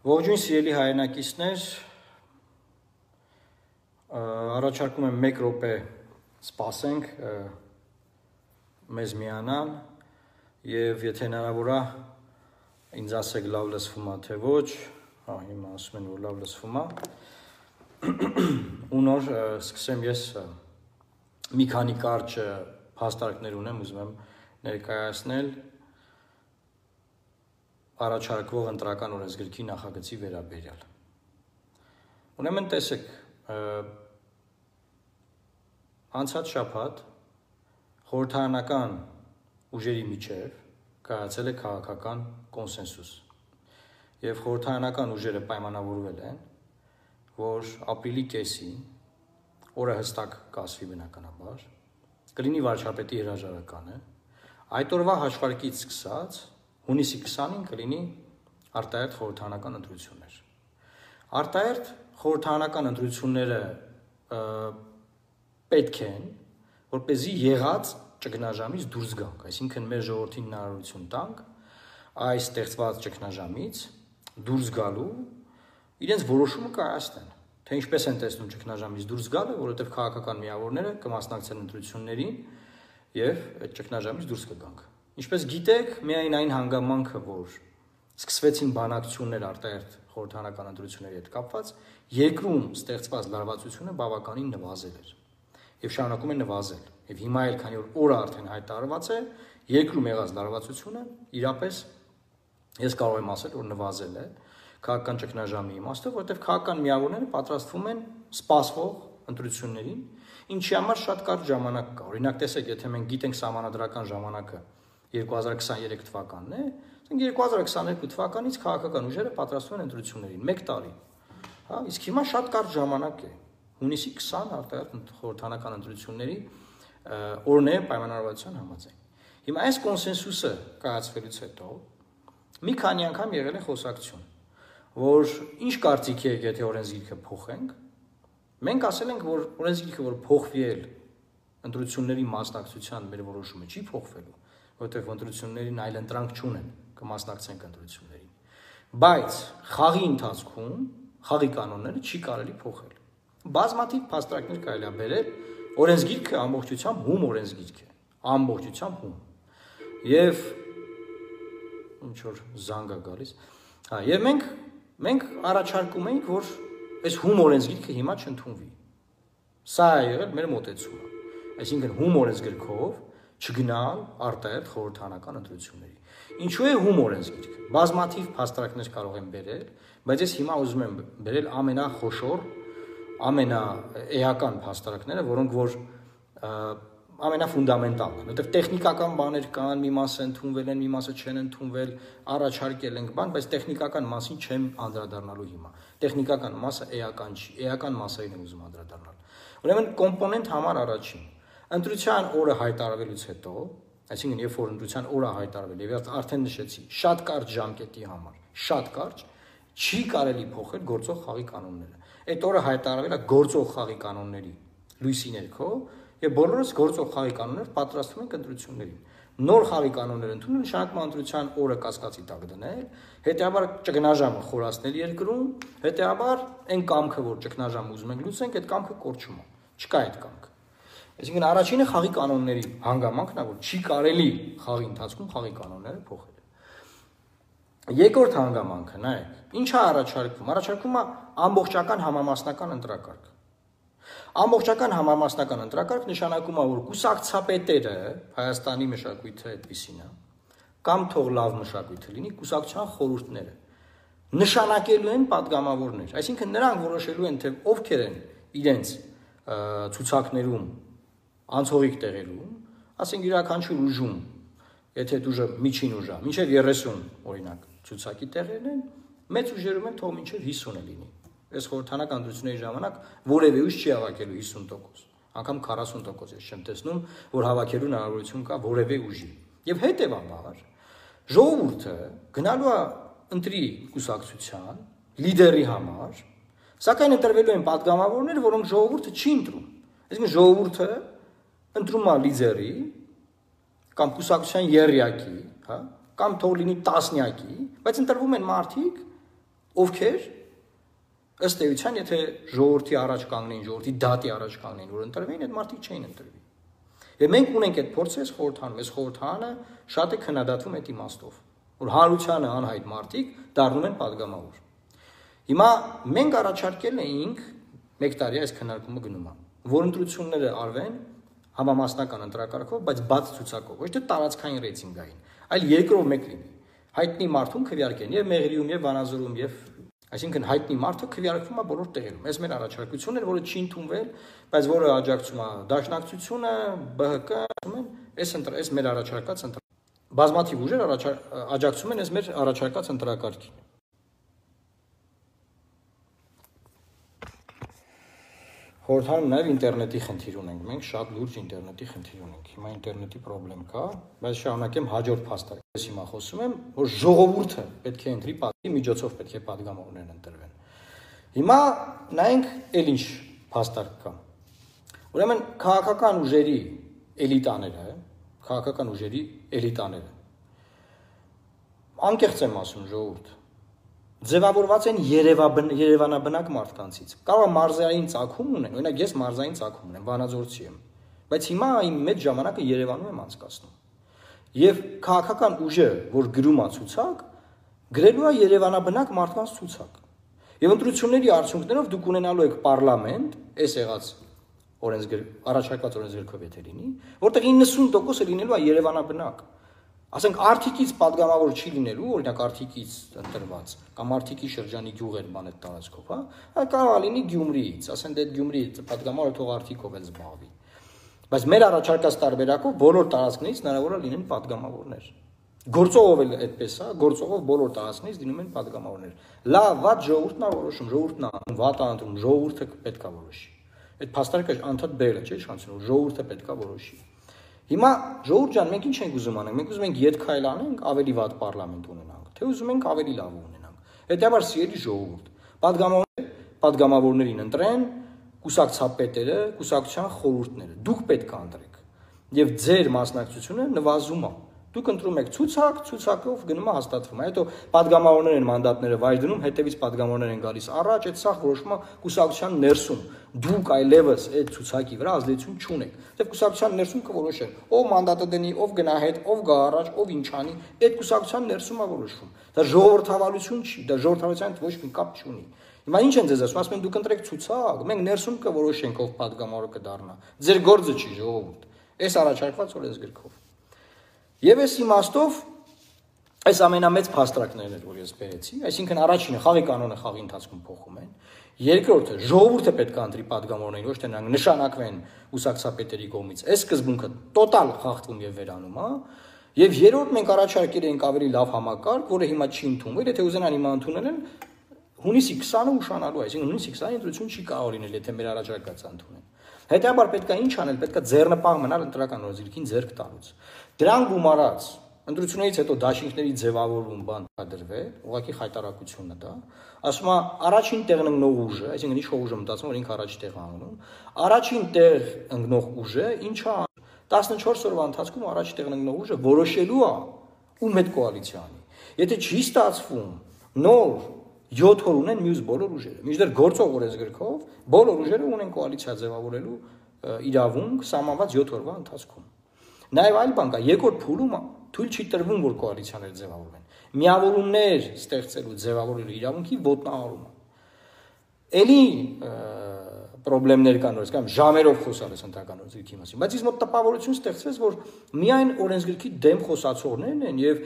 Ողջույն սիրելի հայրենակիցներ, առաջարկում եմ 1 րոպե սպասենք մեզ միանան եւ եթե հնարավոր է ինձ ասեք լավ լսվում է թե ոչ, հա հիմա ասում են որ լավ լսվում է ու նոր սկսեմ ես մի քանի կարճ փաստարկներ ունեմ, ուզում եմ ներկայացնել առաջարկվող ընտրական օրենսգրքի նախագծի վերաբերյալ։ Ուրեմն տեսեք, անցած շաբաթ խորհրդարանական ուժերի միջև կայացել է քաղաքական կոնսենսուս եւ խորհրդարանական ուժերը պայմանավորվել են, որ ապրիլի կեսին օրը հստակ կասվի բնականաբար, կլինի վարչապետի հրաժարականը, այդ օրվա հաշվարկից սկսած հունիսի 20-ին կլինի արտահերթ խորհրդարանական ընտրություններ։ Արտահերթ խորհրդարանական ընտրությունները պետք են, որպեսզի եղած ճգնաժամից դուրս գանք, այսինքն մեր ժողովրդին հնարավորություն տանք այս ստեղծված ճգնաժամից դուրս գալու իրենց որոշումը կայացնեն, թե ինչպես են տեսնում ճգնաժամից դուրս գալը, որովհետև քաղաքական միավորները կմասնակցեն ընտրություններին եւ այդ ճգնաժամից դուրս կգանք։ Ինչպես գիտեք, միայն այն հանգամանքը, որ սկսվեցին բանակցություններ արտահերթ խորհրդարանական ընտրությունների հետ կապված, երկրում ստեղծված լարվածությունը բավականին նվազել էր եւ շարունակում է նվազել։ Եվ հիմա էլ քանի որ օրը արդեն հայտարարված է, երկրում եղած լարվածությունը իրապես ես կարող եմ ասել, որ նվազել է քաղաքական ճգնաժամի իմաստով, որովհետեւ քաղաքական միավորները պատրաստվում են սպասվող ընտրություններին, ինչի համար շատ կարճ ժամանակ կա։ Օրինակ տեսեք, եթե մենք գիտենք սահմանադրական ժամանակը 2023 թվականն է, ասենք 2022 թվականից քաղաքական ուժերը պատրաստվում են ընտրություններին 1 տարի։ Հա, իսկ հիմա շատ կարճ ժամանակ է։ Հունիսի 20 արտահերթ խորհրդարանական ընտրությունների օրն է պայմանավորվածության համաձայն։ Հիմա այս կոնսենսուսը կայացվելուց հետո մի քանի անգամ եղել է խոսակցություն, որ ինչ կարծիքի եք, եթե օրենսգիրքը փոխենք։ Մենք ասել ենք, որ օրենսգիրքը որ փոխվի էլ ընտրությունների մասնակցության մեր որոշումը չի փոխվելու, որտեղ ընտրություններին այլ ընտրանք չունեն, կմասնակցենք ընտրություններին։ Բայց խաղի ընթացքում խաղի կանոնները չի կարելի փոխել։ Բազմաթիվ փաստարկներ կարելի է բերել, օրենսգիրքը ամբողջությամբ հում օրենսգիրք է, ամբողջությամբ հում։ Եվ ինչ որ զանգ է գալիս։ Հա, եւ մենք առաջարկում ենք, որ այս հում օրենսգիրքը հիմա չընդունվի։ Սա է եղել մեր մոտեցումը։ Այսինքն հում օրենսգրքով չգնալ արտահերթ խորհրդարանական ընտրությունների։ Ինչու է հում օրենսգիրքը։ Բազմաթիվ փաստարկներ կարող են բերել, բայց ես հիմա ուզում եմ բերել ամենախոշոր, ամենաէական փաստարկները, որոնք որ ամենաֆունդամենտալն են, որովհետև տեխնիկական բաներ կան, մի մասը ընդունվել են, մի մասը չեն ընդունվել, առաջարկել ենք բան, բայց տեխնիկական մասին չեմ անդրադառնալու հիմա։ Տեխնիկական մասը էական չի, էական մասերին եմ ուզում անդրադառնալ։ Ուրեմն կոմպոնենտ համար առաջին ընտրության օրը հայտարարվելուց հետո, այսինքն երբ որ ընտրության օրը հայտարարվել եւ արդեն նշեցի, շատ կարճ ժամկետի համար, շատ կարճ չի կարելի փոխել գործող խաղի կանոնները։ Այդ օրը հայտարարվել է գործող խաղի կանոնների լույսի ներքո եւ բոլորս գործող խաղի կանոններ պատրաստվում ենք ընտրություններին։ Նոր խաղի կանոններ ընդունել նշանակում է ընտրության օրը կասկածի տակ դնել, հետեւաբար ճգնաժամը խորացնել երկրում, հետեւաբար այն կամքը, որ ճգնաժամը ուզում ենք լուծենք, այդ կամքը կորչում է։ Չկա այդ կամքը։ Այսինքն առաջինը խաղի կանոնների հանգամանքն է, որ չի կարելի խաղի ընթացքում խաղի կանոնները փոխել։ Երկրորդ հանգամանքը, նայեք, ինչ է առաջարկվում։ Առաջարկվում է ամբողջական համամասնական ընտրակարգ։ Ամբողջական համամասնական ընտրակարգ նշանակում է, որ կուսակցապետերը Հայաստանի մշակույթը այդպեսին է, կամ թող լավ մշակույթը լինի, կուսակցության խորհուրդները նշանակելու են падգամավորներ, այսինքն նրանք որոշելու են, թե ովքեր են իրենց ցուցակներում անցողիկ տեղերում, ասենք յուրաքանչյուր ուժում, եթե ուժը միջին ուժ է, մինչև 30 օրինակ ցուցակի տեղերն են, մեծ ուժերում են թող մինչև 50-ը լինի։ Այս խորհրդարանական ընտրությունների ժամանակ որևէ ուժ չի հավաքելու 50%, անգամ 40% ես չեմ տեսնում, որ հավաքելու հնարավորություն կա որևէ ուժի։ Եվ հետևաբար ժողովուրդը գնալու է ընտրի կուսակցության լիդերի համար, սակայն ընտրվելու են падգամավորներ, որոնք ժողովուրդը չի ընտրում։ Այսինքն ժողովուրդը ընտրում է լիդերի կամ կուսակցության եռյակի, հա, կամ թող լինի տասնյակի, բայց ընտրվում են մարդիկ, ովքեր ըստ էության, եթե ժողովրդի առաջ կանգնեին, ժողովրդի դատի առաջ կանգնեին, որ ընտրվեին, այդ մարդիկ չէին ընտրվի։ Եվ մենք ունենք այդ փորձը այս խորհրդանում, այս խորհրդանը շատ է քննադատվում այդ իմաստով, որ հանրությանը անհայտ մարդիկ դառնում են падգամավոր։ Հիմա մենք առաջարկել էինք 1 տարի այս քննարկումը գնում է, որ ընտրությունները արվեն համամասնական ընտրակարգով, բայց բաց ցուցակով, ոչ թե տարածքային ռեյտինգային, այլ երկրով մեկ լինի։ Հայտնի մարդուն քվեարկեն եւ Մեղրիում եւ Վանաձորում եւ այսինքն հայտնի մարդը քվեարկվում է բոլոր տեղերում։ Այս մեր առաջարկությունն էր, որը չի ընդունվել, բայց որը աջակցում է Դաշնակցությունը, ԲՀԿ-ն, այս մեր առաջարկած բազմաթիվ ուժեր աջակցում են այս մեր առաջարկած ընտրակարգին։ Խորհրդանում նաև ինտերնետի խնդիր ունենք, մենք շատ լուրջ ինտերնետի խնդիր ունենք։ Հիմա ինտերնետի խնդրեմ կա, բայց շարունակեմ հաջորդ փաստարկը։ Ես հիմա խոսում եմ, որ ժողովուրդը պետք է ընտրի, պատի միջոցով պետք է падգամավորներ ընտրվեն։ Հիմա նայենք էլ ինչ փաստարկ կա։ Ուրեմն քաղաքական ուժերի էլիտաները, անկեղծ եմ ասում ժողովուրդ, ձևավորված են երևանաբնակ մարդկանցից։ Կարող է մարզային ծագում ունեն, օրինակ ես մարզային ծագում ունեմ, Վանաձորցի եմ, բայց հիմա այն մեծ ժամանակը Երևանում եմ անցկացնում։ Եվ քաղաքական ուժը, որ գրում է ցուցակ, գրելու է երևանաբնակ մարդկանց ցուցակ։ Եվ ընտրությունների արդյունքներով դուք ունենալու եք պարլամենտ, այս եղած առաջարկված օրենսգրքով եթե լինի, որտեղ 90%-ը լինելու է երևանաբնակ։ Ասենք Արթիկից падգամավոր չի լինելու, օրինակ Արթիկից ընտրված, կամ Արթիկի շրջանի գյուղեր բան այդ տարածքով, հա, կարող է լինի Գյումրիից, ասենք այդ Գյումրի падգամավորը թող Արթիկով էլ զբաղվի։ Բայց մեր առաջարկած տարբերակով բոլոր տարածքներից հնարավոր է լինեն падգամավորներ։ Գործողով էլ այդպես է, գործողով բոլոր տարածքներից լինում են падգամավորներ։ Լավ, վատ ժողովուրդն է որոշում, ժողովուրդն է վատ անդրում, ժողովուրդը պետք է որոշի։ Այդ փաստարկը անդադ բերել է, չէ՞, շանսում, ժողովուրդը պետք է որոշի։ Հիմա ժողովուրդ ջան, մենք ինչ ենք ուզում անենք, մենք ուզում ենք ետ քայլ անենք, ավելի վատ պարլամենտ ունենանք, թե ուզում ենք ավելի լավ ունենանք։ Հետևաբար սիրելի ժողովուրդ, падգամավորներին ընտրեն կուսակցապետերը, կուսակցության խորհուրդները։ Դուք պետք է ընտրեք։ Եվ ձեր մասնակցությունը նվազում է։ Դուք ընտրում եք ցուցակ, ցուցակով գնում է հաստատվում։ Հետո падգամավորներ են մանդատները վայր դնում, հետևից падգամավորներ են գալիս առաջ, այդ սա որոշումը կուսակցության ներսում։ Դուք այլևս այդ ցուցակի վրա ազդեցություն չունեք։ Դեռ կուսակցության ներսում կորոշեն, ով մանդատը դնի, ով գնա հետ, ով գա առաջ, ով ինչ անի, այդ կուսակցության ներսում է որոշվում։ Դա ժողովրդավարություն չի, դա ժողովրդավարության հետ ոչ մի կապ չունի։ Հիմա ինչ են ձեզ ասում, ասում են դուք ընտրեք ցուցակ, մենք ներսում կորոշենք ով падգամավոր կդառնա։ Ձեր գործը չի ժողովուրդ։ Այս առաջարկված օրենսգրքով։ Եվ այս իմաստով այս ամենամեծ փաստարկներն են, որ ես բերեցի, այսինքն առաջինը խաղի կանոնը խաղի ընթացքում փոխում են, երկրորդը ժողովուրդը պետք է ընտրի падգամավորներին, ոչ թե նրանք նշանակվեն ուսակցապետերի կողմից։ Այս սկզբունքը տոտալ խախտվում եւ վերանում է, եւ երրորդ մենք առաջարկել ենք ավելի լավ համակարգ, որը հիմա չի ընդունվել, եթե ուզենան հիմա ընդունել են հունիսի 20-ը ուշանալու, այսինքն հունիսի 20-ին ընտրություն չի կարող լինել, եթե մեր առաջարկածը ընդունեն։ Հետեւաբար պետք է ինչ անել, պետք է ձեռնպահ մնալ ընտրական օրենսգրքին ձեռք տալուց։ Դրան գումարած ընտրություններից հետո դաշինքների ձևավորում բան դրվել, ուղղակի խայտարակությունն է դա։ Ասում է առաջին տեղն ընկնող ուժը, այսինքն ինչ ուժը մտածում, որ ինքը առաջ տեղ անում, առաջին տեղ ընկնող ուժը ինչա 14 օրվա ընթացքում առաջ տեղն ընկնող ուժը որոշելու է ում հետ կոալիցիա անի։ Եթե չի ստացվում, նոր 7 օր ունեն մյուս բոլոր ուժերը։ Մինչդեռ գործող օրենսգրքով բոլոր ուժերը ունեն կոալիցիա ձևավորելու իրավունք սահմանված 7 օրվա ընթացքում։ Նաև այլ բան կա, երկրորդ փուլում թույլ չի տրվում, որ կոալիցիաներ ձևավորվեն։ Միավորումներ ստեղծելու ձևավորելու իրավունքի ոտնահարումը։ Էլի խնդիրներ կան, որ ասեմ, ժամերով խոսալ ես ընտրական օրենսգրքի մասին, բայց ինձ մոտ տպավորություն ստեղծվեց, որ միայն օրենսգրքի դեմ խոսացողներն են եւ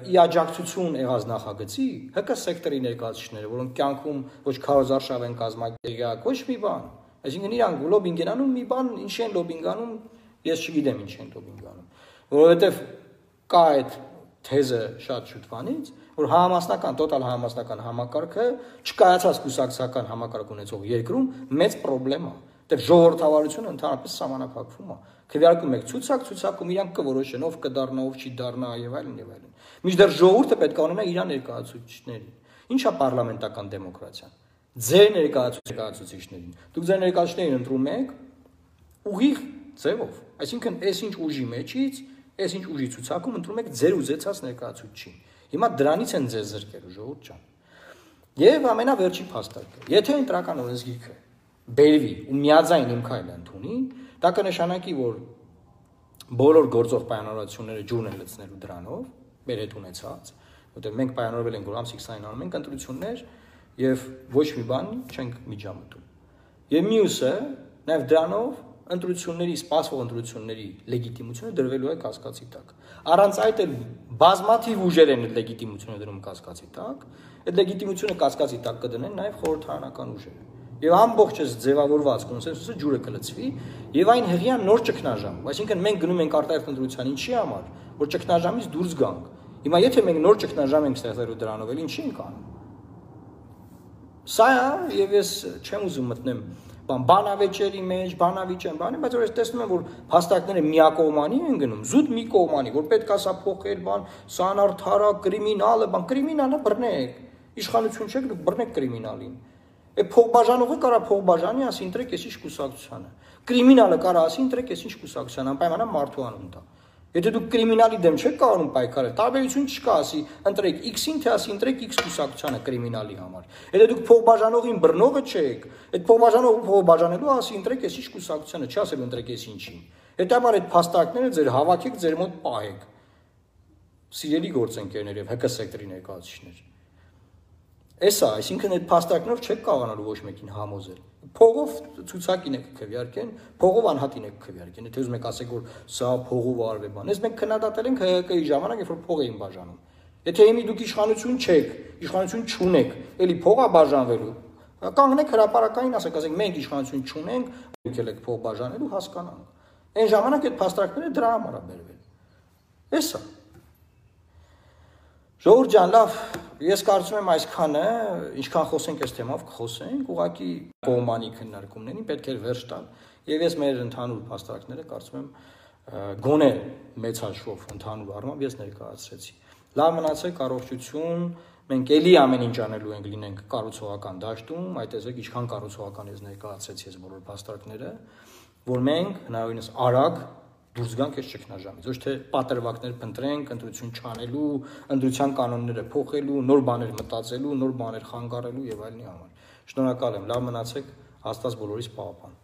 ի աջակցություն եղած նախագծի ՀԿ սեկտորի ներկայացուցիչները, որոնք կյանքում ոչ քարոզարշավ են կազմակերպել, ոչ մի բան։ Այսինքն իրանք լոբինգ են անում, մի բան ինչ են լոբինգ անում, ես չգիտեմ ինչ են լոբինգ անում, որովհետեւ կա այդ թեզը շատ շուտվանից, որ համամասնական, տոտալ համամասնական համակարգը չկայացած կուսակցական համակարգ ունեցող երկրում մեծ խնդրեմ է։ Դեռ ժողովրդավարությունը ընդհանրապես սահմանափակվում է։ Քվեարկում եք ցուցակ, ցուցակում իրանք կորոշեն, ով կդառնա, ով չի դառնա եւ այլն եւ այլն։ Մինչդեռ ժողովուրդը պետք է ունենա իր ներկայացուցիչներին։ Ինչ է պարլամենտական դեմոկրատիան։ Ձեր ներկայացուցիչներին։ Դուք ձեր ներկայացուցիչներին ընտրում եք ուղիղ ձևով։ Այսինքն, այսինչ ուժի մեջից Այս ինչ ուժի ցուցակում ընտրում եք ձեր ուզեցած ներկայացուցիչին։ Հիմա դրանից են ձեզ զրկելու ժողովուրդ ջան։ Եվ ամենավերջի փաստարկը, եթե ընտրական օրենսգիրքը բերվի ու միաձայն իմ քայլը ընդունի, դա կնշանակի, որ բոլոր գործող պայմանավորվածությունները ջուրն են լցնելու դրանով, մեր հետ ունեցած, որտեղ մենք պայմանավորվել ենք, որ ամսի 20-ին անում ենք ընտրություններ եւ ոչ մի բան չենք միջամտում։ Եվ մյուսը, նաեւ դրանով ընտրությունների, սպասվող ընտրությունների լեգիտիմությունը դրվելու է կասկածի տակ։ Առանց այդ էլ բազմաթիվ ուժեր են լեգիտիմությունը դրում կասկածի տակ, այդ լեգիտիմությունը կասկածի տակ կդնեն նաեւ խորհրդարանական ուժերը։ Եվ ամբողջ այս ձևավորված կոնսենսուսը ջուրը կլցվի եւ այն հղիան նոր ճգնաժամ, այսինքն մենք գնում ենք արտահայտ ընտրության ինչի համար, որ ճգնաժամից դուրս գանք։ Հիմա եթե մենք նոր ճգնաժամ ենք ստեղծելու դրանով, էլ ինչի ենք անում։ Սա է եւ ես չեմ ուզում մտնեմ բանավեճերի մեջ, բանավիճ են, բայց որ ես տեսնում եմ, որ փաստարկները միակողմանի են գնում, զուտ մի կողմանի, որ պետք է սա փոխել, սա անարդարա, կրիմինալ է, կրիմինալը բռնեք, իշխանություն չեք, բռնեք կրիմինալին։ Փողբաժանողը կարա փողբաժանի, ասի ընտրեք ես ինչ կուսակցությանը։ Կրիմինալը կարա ասի ընտրեք ես ինչ կուսակցության, անպայմանաբար մարդու անուն տա։ Եթե դուք կրիմինալի դեմ չեք կարող պայքարել, տարբերություն չկա, ասի ընտրեք X-ին, թե ասի ընտրեք X կուսակցությանը կրիմինալի համար։ Եթե դուք փողբաժանողին բռնողը չեք, այդ փողբաժանողը փողբաժանելու ասի ընտրեք ես ինչ կուսակցությանը, չասել ընտրեք ես ինչին։ Հետաբար այդ փաստարկները ձեր հավաքեք, ձեր մոտ պահեք։ Սիրելի գործընկերներ եւ ՀԿ սեկտորի ներկայացուցիչներ։ Էսա, այսինքն այդ փաստարկներով չեք կարողանալու ոչ մեկին համոզել։ Փողով ցուցակին եք քվեարկեն, փողով անհատին եք քվեարկեն։ Եթե ուզում եք ասեք, որ սա փողով արվե բան, ես մենք քննադատել ենք ՀՀԿ-ի ժամանակ, երբ որ փող էին բաժանում։ Եթե հիմի դուք իշխանություն չեք, իշխանություն չունեք, էլի փողա բաժանվելու։ Կանգնեք հրապարակային, ասեք, մենք իշխանություն չունենք, եկել եք փող բաժանելու, հասկանանք։ Այն ժամանակ այդ փաստարկները դրա համար է բերվել։ Էսա։ Ժողովուրդ ջան, լավ, ես կարծում եմ այսքանը, ինչքան խոսենք այս թեմով, կխոսենք, ուղղակի կողմանի քննարկումներին պետք է վերջ տալ, եւ ես մեր ընդհանուր փաստարկները կարծում եմ գոնե մեծ հաշվով ընդհանուր առմամբ ես ներկայացրեցի։ Լավ մնացեք, առողջություն, մենք էլի ամեն ինչ անելու ենք լինենք կառուցողական դաշտում, այդ տեսեք ինչքան կառուցողական ես ներկայացրեցի ես բոլոր փաստարկները, որ մենք հնարավորինս արագ դուրս գանք այս ճգնաժամից, ոչ թե պատրվակներ փնտրենք, ընտրություն չանելու, ընտրության կանոնները փոխելու, նոր բաներ մտածելու, նոր բաներ խանգարելու եւ այլնի համար։ Շնորհակալ եմ, լավ մնացեք, Աստված բոլորիս պահապան։